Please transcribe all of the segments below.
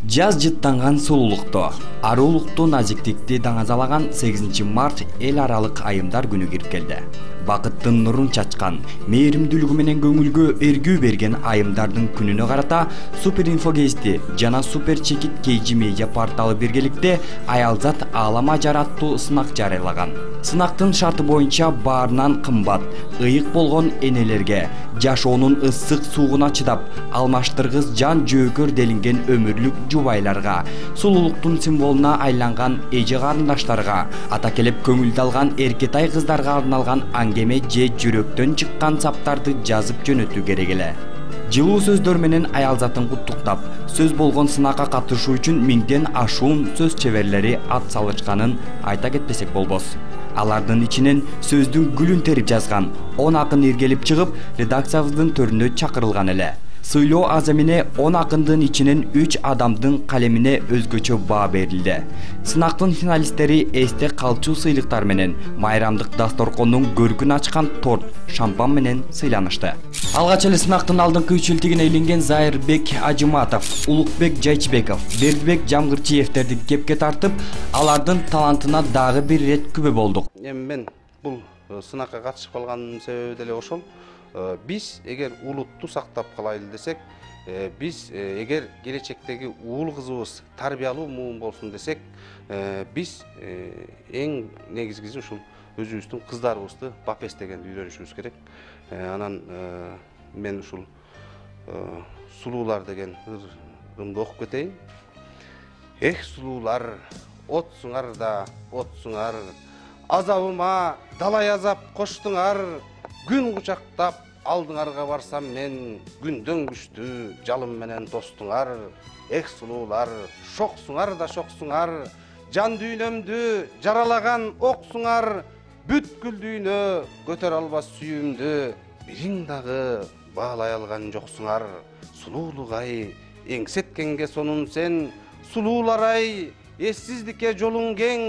Жаз жыттанган сулуулукту, арулукту, назиктикти даңазалаган 8 март эл аралык айымдар күнү кирип келди. Бакыттын нурун чачкан, мээримдүүлүгү менен көңүлгө эргүү берген айымдардын күнүнө карата Супер Инфо Гезити жана Супер Чекит KG Media порталы биргеликте Аялзат Аалам Ажар аттуу сынак жарыялаган. Сынактын шарты боюнча баарынан кымбат, ыйык болгон энелерге, жашоонун ысык суугуна чыдап, алмаштыргыс жан жөөкөр делинген өмүрлүк жубайларга, сулуулуктун символуна айланган эже карындаштарга, ата келип көңүлдү алган эркетай кыздарга арналган аңгеме же жүрөктөн чыккан саптарды жазып жөнөтүү керек эле. Жылуу сөздөр менен Аялзатын куттуктап, сөз болгон сынакка катышуу үчүн миңден ашуун сөз чеберлери ат салышканын айта кетпесек болбос. Алардын ичинен сөздүн гүлүн терип жазган 10 акын иргелип чыгып, редакциябыздын төрүнө чакырылган эле. Сыйлоо аз эмне 10 акындын ичинен 3 адамдын калемине өзгөчө баа берилди. Сынактын финалисттери эсте калчу сыйлыктар менен майрамдык дасторкондун көркүн ачкан торт, шампан менен сыйланышты. Алгач эле сынактын алдыңкы үчөлтүгүнө илинген Зайырбек Ажыматов, Улукбек Жайчбеков, Бердибек Жамгырчиевтерди кепке тартып, алардын талантына дагы бир ирет күбө болдук. Мен бул сынакка катышып калганымдын себеби деле ошол. Биз эгер улутту сактап калайлы десек, биз эгер келечектеги уул кызыбыз тарбиялуу муун болсун десек, биз эң негизгиси ушул өзүбүздүн кыздарыбызды бап эстегенди үйрөнүшүбүз керек. Анан мен ушул сулуулар деген ырымды окуп кетейин. Эх сулуулар, отсуңар да отсуңар, азабыма далай азап коштуңар, күн кучактап алдыңарга барсам мен, күндөн күчтүү жалым менен тостуңар. Эх сулуулар, шоксуңар да шоксуңар, жан дүйнөмдү жаралаган оксуңар, бүткүл дүйнө көтөрө албас сүйүүмдү, бириң дагы баалай алган жоксуңар. Сулуулугай, эңсеткенге сонун сен, сулуулар-ай, эссиздикке жолуң кең,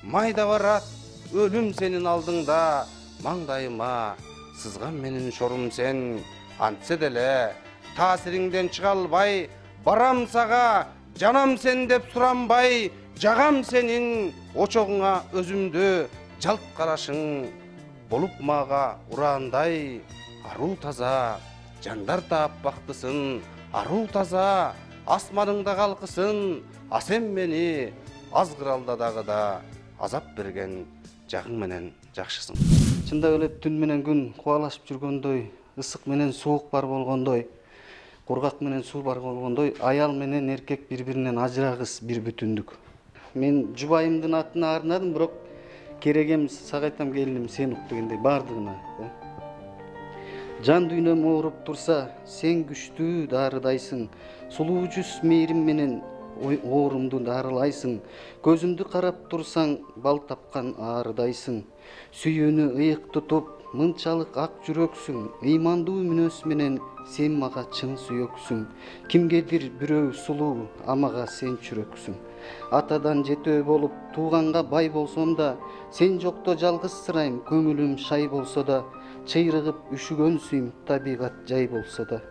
майда барат өлүм сенин алдыңда, маңдайыма сызган менин шорум сен. Антсе деле таасириңден чыга албай, барам сага жанам сен деп суранбай, жагам сенин очогуңа өзүмдү, жалт карашың болуп мага ураандай. Аруу таза жандар таап бактысын, аруу таза асманыңда калкысын, а сен мени азгыралда дагы да азап берген жагың менен жакшысың. Чындап эле түн менен күн кубалашып жүргөндөй, ысык менен суук бар болгондой, кургак менен суу бар болгондой, аял менен эркек бири-биринен ажырагыс бир бүтүндүк. Мен жубайымдын атына арнадым, бирок керегем сага айтам келиним сен ук дегендей бардыгына. Жан дүйнөм ооруп турса, сен күчтүү дарыдайсың, сулуу жүз мээрим менен оорумду дарылайсың, көзүмдү карап турсаң бал тапкан аарыдайсың, сүйүүнү ыйык тутуп мынчалык ак жүрөксүң, ыймандуу мүнөз менен сен мага чын сүйөксүң, кимгедир бирөө сулуу, а мага сен чүрөксүң. Атадан жетөө болуп тууганга бай болсом да, сен жокто жалгызсырайм, көңүлүм шай болсо да, чыйрыгып үшүгөн сүйм, табигат жай болсо да.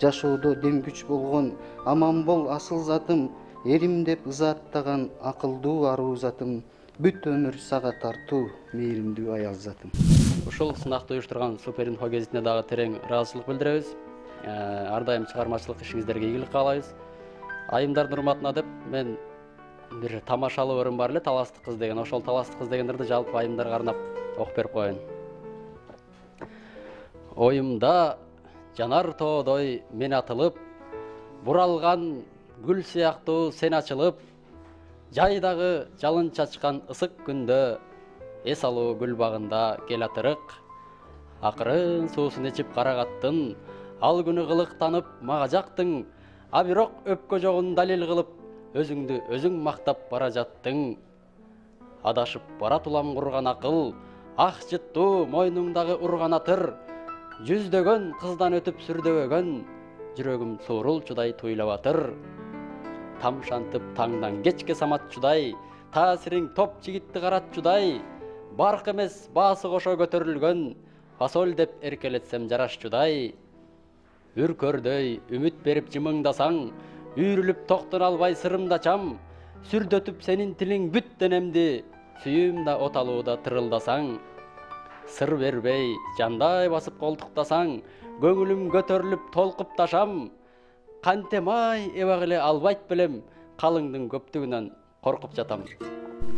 Жашоодо дем күч болгон аман бол асыл затым, эрим деп ызааттаган акылдуу аруу затым, бүт өмүр сага тартуу мээримдүү Аялзатым. Ушул сынакты уюштурган Супер Инфо Гезитине дагы терең ыраазычылык билдиребиз. Ар дайым чыгармачылык ишиңиздерге ийгилик каалайбыз. Айымдардын урматына деп мен бир тамашалуу ырым бар эле, Таластык кыз деген. Ошол Таластык кыз дегендерди жалпы айымдарга арнап окуп берип коеюн. Оюмда жанар тоодой мен атылып, буралган гүл сыяктуу сен ачылып, жайдагы жалын чачкан ысык күндө эс алуу гүл багында кел атырык. Акырын суусун ичип карагаттын, ал күнү кылыктанып мага жактың, а бирок өпкө жогун далил кылып, өзүңдү өзүң мактап бара жаттың. Адашып барат улам курган акыл, ак жыттуу мойнуңдагы урган атыр, жүздөгөн кыздан өтүп сүрдөбөгөн, жүрөгүм суурулчудай туйлап атыр. Тамшантып таңдан кечке саматчудай, таасириң топ жигитти каратчудай, барк эмес баасы кошо көтөрүлгөн, фасоль деп эркелетсем жарашчудай. Үркөрдөй үмүт берип жымыңдасаң, Үйрүлүп токтоно албай сырымда чам, сүрдөтүп сенин тилиң бүт денемди, сүйүүмда оталууда тырылдасаң. Сыр бербей, жандай басып колтуктасаң, көңүлүм көтөрүлүп толкуп ташам. Кантем ай эбак эле албайт белем, калыңдын көптүгүнөн коркуп жатам.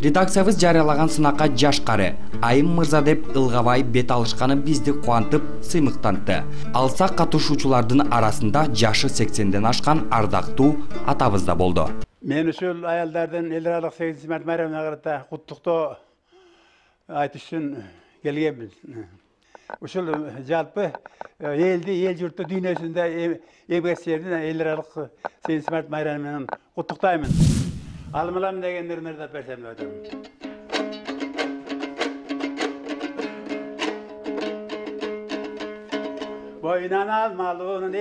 Редакциябыз жарыялаган сынакка жашкары Айым мырза деп ылгабай бет алышканы бизди кубантып, сыймыктантты. Алсак катышуучулардын арасында жашы 80ден ашкан ардактуу атабыз да болду. Мен ушул аялдардын эл аралык 8 март майрамына карата куттуктоо айтыш үчүн келгенбиз. Ушул жалпы элди, эл журтту дүйнөсүндө эмгекчилердин эл аралык 8 март майрамы менен куттуктаймын. Алмылам дегендерин ырдап берсем деп атам. Boynan almalının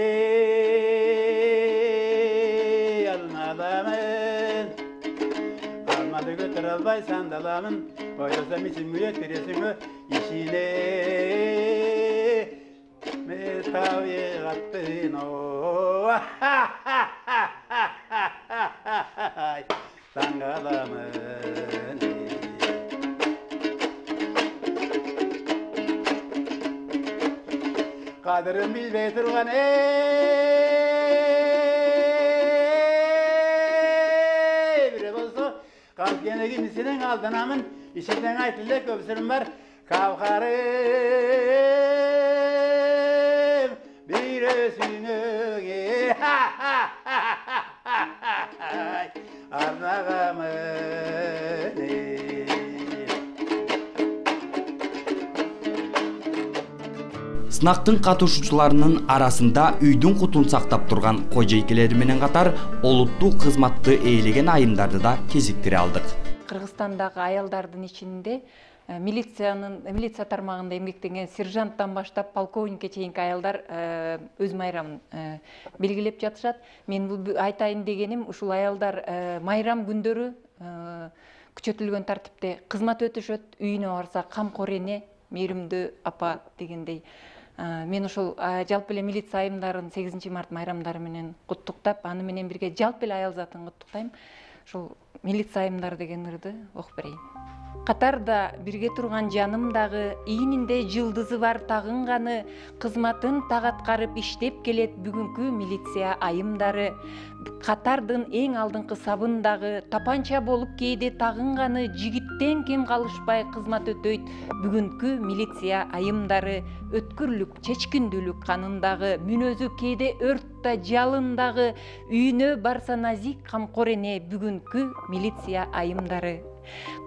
almalamın. Almadı götür albay sandalamın. Boylasam için müyettiresin o işine. Metaviye kattın o. Sangalamın. Kadırım bilbey turgan bire bolsa kalk gene kimisinin aldınamın işinden aytıldı köpsürüm var kavkarım bir özünü arnağamın. Сынактын катышуучуларынын арасында үйдүн кутун сактап турган кожойкелери менен катар олуттуу кызматты ээлеген айымдарды да кезиктире алдык. Кыргызстандагы аялдардын ичинде милиция тармагында эмгектенген сержанттан баштап полковникке чейинки аялдар өз майрамын белгилеп жатышат. Мен бул айтайын дегеним ушул аялдар майрам күндөрү күчөтүлгөн тартипте кызмат өтүшөт, үйүнө барса камкор эне, мээримдүү апа дегендей. Мен ушул жалпы эле милиция айымдарын 8 март майрамдары менен куттуктап, аны менен бирге жалпы эле аял затын куттуктайм. Ушул милиция айымдары деген ырды окуп берейин. Катарда бирге турган жаным дагы, ийининде жылдызы бар тагынганы, кызматын так аткарып иштеп келет бүгүнкү милиция айымдары. Катардын эң алдыңкы сабындагы, тапанча болуп кээде тагынганы, жигиттен кем калышпай кызмат өтөйт бүгүнкү милиция айымдары. Өткүрлүк, чечкиндүүлүк канындагы, мүнөзү кээде өрттө жалындагы, үйүнө барса назик камкор эне бүгүнкү милиция айымдары.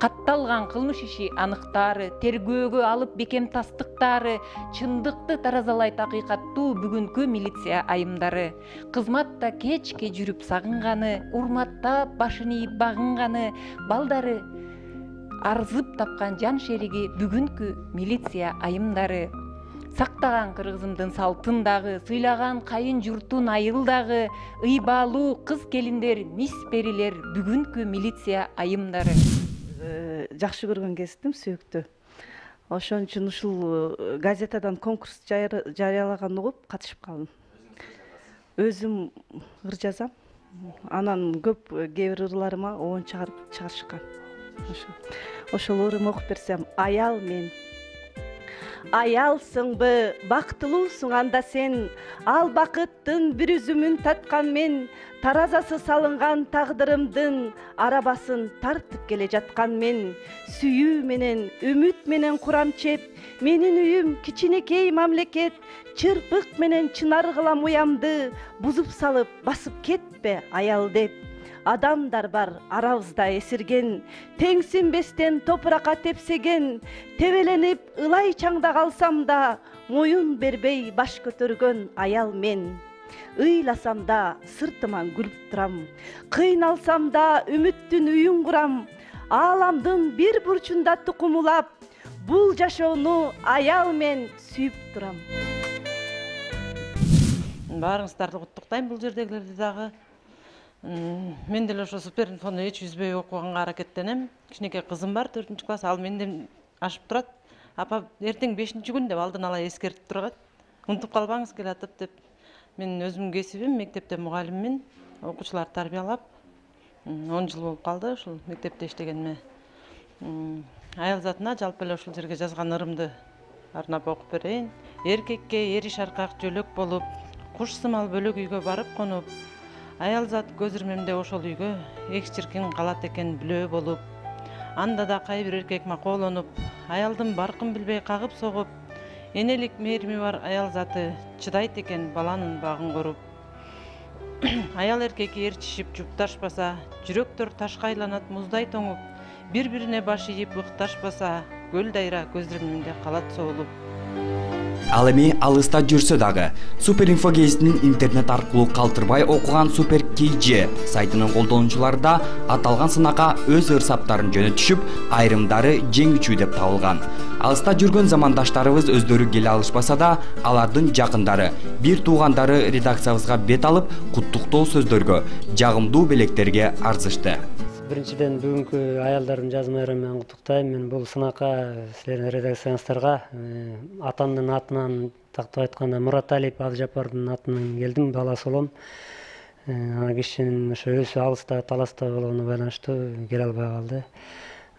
Катталган кылмыш иши аныктаары, тергөөгө алып бекем тастыктаары, чындыкты таразалайт акыйкаттуу бүгүнкү милиция айымдары. Кызматта кечке жүрүп сагынганы, урматтап башын ийип багынганы, балдары арзып тапкан жан шериги бүгүнкү милиция айымдары. Сактаган кыргызымдын салтын дагы, сыйлаган кайын журтун айыл дагы, ыйбалуу кыз келиндер, мис перилер бүгүнкү милиция айымдары. Жакшы көргөн кесиптим, сүйүктүү. Ошон үчүн ушул газетадан конкурс жарыялаганын угуп катышып калдым. Өзүм ыр жазам. Анан көп кээ бир ырларыма оон чыгарышкан. Ошол ырымды окуп берсем, аял мен. Аялсыңбы, бактылуусуң анда сен, ал бакыттын бир үзүмүн таткан мен, таразасы салынган тагдырымдын арабасын тартып келе жаткан мен, сүйүү менен, үмүт менен курам чеп, менин үйүм кичинекей мамлекет, чырпык менен чынар кылам уямды, бузуп салып басып кетпе аял деп. Адамдар бар арабызда эсирген, теңсинбестен топуракка тепсеген, тебеленип ылай чаңда калсам да, моюн бербей баш көтөргөн аял мен. Ыйласам да сыртыман күлүп турам, кыйналсам да үмүттүн үйүн курам, ааламдын бир бурчунда тукумулап, бул жашоону аял мен сүйүп турам. Баарыңыздарды куттуктайм, бул жердегилерди дагы. Мен деле ошо суперинфону эч үзбөй окуганга аракеттенем. Кичинекей кызым бар, 4-класс, ал менден ашып турат. Апа, эртең 5-күн деп алдын ала эскертип турат. Унутуп калбаңыз келатып деп. Мен өзүмдүн кесибим мектепте мугалиммин. окуучуларды тарбиялап 10 жыл болуп калды ушул мектепте иштегениме. Аял затына жалпы эле ушул жерге жазган ырымды арнап окуп берейин. Эркекке эри шаркак жөлөк болуп, куш сымал бөлөк үйгө барып конуп, аял зат көз ирмемде ошол үйгө эч чиркин калат экен бүлөө болуп. Анда да кайбир эркек макоолонуп, аялдын баркын билбей кагып согуп, энелик мээрими бар аял заты чыдайт экен баланын багын коруп. Аял эркекке ээрчишип жупташпаса, жүрөктөр ташка айланат муздай тоңуп, бири-бирине баш ийип ыкташпаса, көл дайра көз ирмемде калат соолуп. Ал эми алыста жүрсө дагы Суперинфо гезитинин интернет аркылуу калтырбай окуган Супер KG сайтынын колдонуучулары да аталган сынакка өз ырсаптарын жөнөтүшүп, айрымдары жеңүүчү деп табылган. Алыста жүргөн замандаштарыбыз өздөрү келе алышпаса да, алардын жакындары, бир туугандары редакциябызга бет алып, куттуктоо сөздөргө, жагымдуу белектерге арзышты. Биринчиден бүгүнкү аялдардын жаз майрамы менен куттуктайм. Мен бул сынакка силердин редакцияңыздарга атамдын атынан тактап айтканда Мураталиев Абжапардын атынан келдим, баласы болом. Ана кишинин ошо өзү алыста, таласта болгонуна байланыштуу келе албай калды.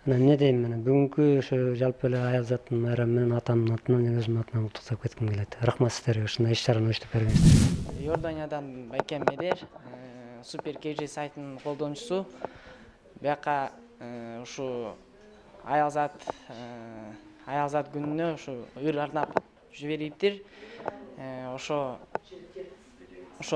Анан эмне дейм, мына бүгүнкү ошо жалпы эле аял заттын майрамы менен атамдын атынан, өзүмдүн атынан куттуктап кетким келет. Рахмат сиздерге ушундай иш-чараны оюштуруп бергениңизге. Иорданиядан Байкем Медер, Супер KG сайтынын колдонуучусу. Бияка ушу аял зат күнүнө ушу ыр арнап жибериптир. Ошо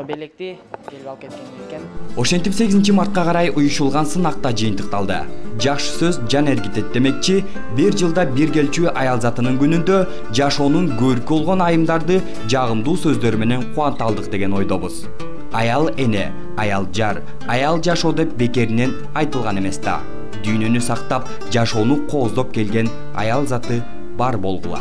белекти келип алып кеткен экен. Ошентип 8 мартка карай уюшулган сынакта жыйынтыкталды. Жакшы сөз жан эргитет демекчи, бир жылда бир келчү аял затынын күнүндө жашоонун көркү болгон айымдарды жагымдуу сөздөр менен кубанта алдык деген ойдобуз. Аял эне, аял жар, аял жашоо деп бекеринен айтылган эмес да. Дүйнөнү сактап, жашоону кооздоп келген аял заты бар болгула.